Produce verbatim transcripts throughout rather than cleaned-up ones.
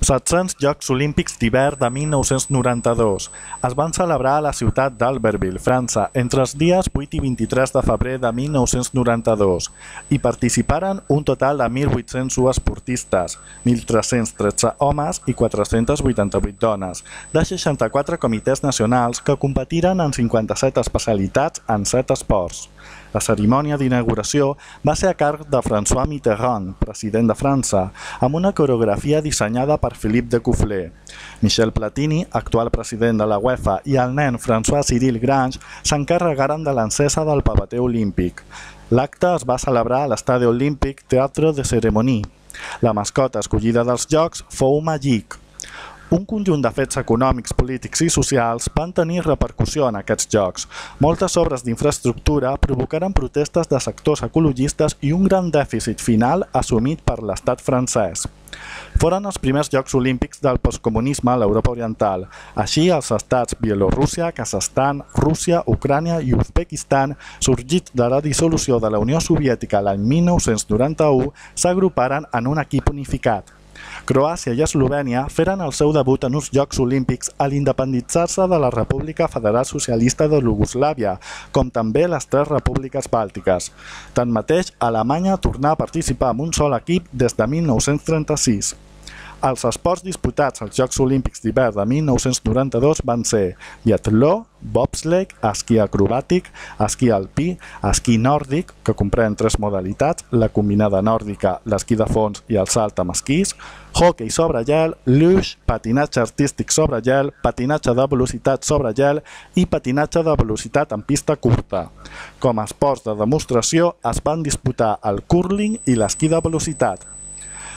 set-cents Jocs Olímpics d'hivern de mil nou-cents noranta-dos es van celebrar a la ciutat d'Albertville, França, entre els dies vuit i vint-i-tres de febrer de mil nou-cents noranta-dos. Hi participaren un total de mil vuit-cents u esportistes, mil tres-cents tretze homes i quatre-centes vuitanta-vuit dones, de seixanta-quatre comitès nacionals que competiren en cinquanta-set especialitats en set esports. La cerimònia d'inauguració va ser a càrrec de François Mitterrand, president de França, amb una coreografia dissenyada per Philippe de Coufflet. Michel Platini, actual president de la UEFA, i el nen François-Cyril Grange s'encarregaren de l'encesa del pavete olímpic. L'acte es va celebrar a l'Estadi Olímpic Teatre de Cérémonie. La mascota escollida dels Jocs fou Magic. Un conjunt de fets econòmics, polítics i socials van tenir repercussió en aquests jocs. Moltes obres d'infraestructura provocaren protestes de sectors ecologistes i un gran dèficit final assumit per l'estat francès. Foren els primers Jocs Olímpics del postcomunisme a l'Europa Oriental. Així, els estats Bielorússia, Kazakhstan, Rússia, Ucrània i Uzbekistan, sorgits de la dissolució de la Unió Soviètica l'any mil nou-cents noranta-u, s'agruparen en un equip unificat. Croàcia i Eslovènia feren el seu debut en uns Jocs Olímpics a l'independitzar-se de la República Federal Socialista de Iugoslàvia, com també les tres repúbliques bàltiques. Tanmateix, Alemanya tornà a participar amb un sol equip des de mil nou-cents trenta-sis. Els esports disputats als Jocs Olímpics d'hivern de mil nou-cents noranta-dos van ser biatló, bobsleigh, esquí acrobàtic, esquí alpí, esquí nòrdic, que comprèn tres modalitats, la combinada nòrdica, l'esquí de fons i el salt amb esquís, hoquei sobre gel, luge, patinatge artístic sobre gel, patinatge de velocitat sobre gel i patinatge de velocitat en pista curta. Com a esports de demostració es van disputar el cúrling i l'esquí de velocitat.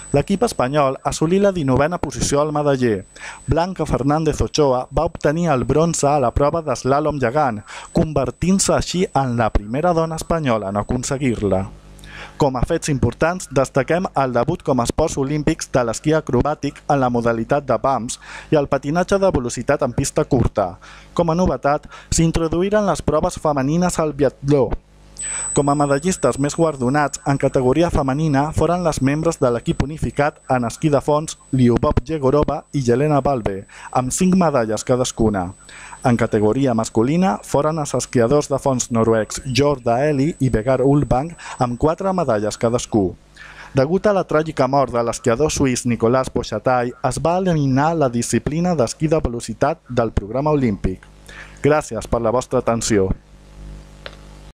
L'equip espanyol assolí la dinovena posició al medaller. Blanca Fernández Ochoa va obtenir el bronze a la prova d'eslàlom gegant, convertint-se així en la primera dona espanyola en aconseguir-la. Com a fets importants, destaquem el debut com a esports olímpics de l'esquí acrobàtic en la modalitat de bumps i el patinatge de velocitat en pista curta. Com a novetat, s'introduïren les proves femenines al biatló. Com a medallistes més guardonats en categoria femenina foren les membres de l'equip unificat en esquí de fons Lyubov Yegorova i Jelena Valve, amb cinc medalles cadascuna. En categoria masculina foren els esquiadors de fons noruecs Jorda Eli i Vegard Ulvang amb quatre medalles cadascú. Degut a la tràgica mort de l'esquiador suís Nicolas Bochatai, es va eliminar la disciplina d'esquí de velocitat del programa olímpic. Gràcies per la vostra atenció.